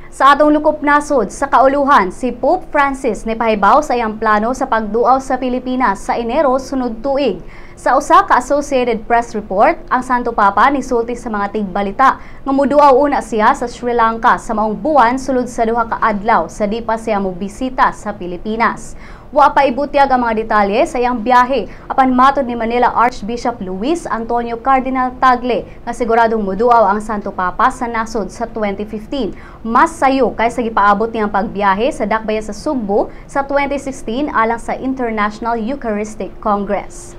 Sa atong lukop nasod, sa kauluhan, si Pope Francis nipahibaw sa iyang plano sa pagduaw sa Pilipinas sa Enero sunod tuig. Sa usa ka Associated Press report, ang Santo Papa nisulti sa mga tigbalita nga muduaw una siya sa Sri Lanka sa maong buwan sulod sa 2 ka adlaw sa di pa siya mobisita sa Pilipinas. Wa pa ibutyag ang mga detalye sa iyang biyahe, apan matod ni Manila Archbishop Luis Antonio Cardinal Tagle nga siguradong muduaw ang Santo Papa sa nasod sa 2015. Mas sayo kaysa gipaabot niyang pagbiyahe sa dakbayan sa Sugbo sa 2016 alang sa International Eucharistic Congress.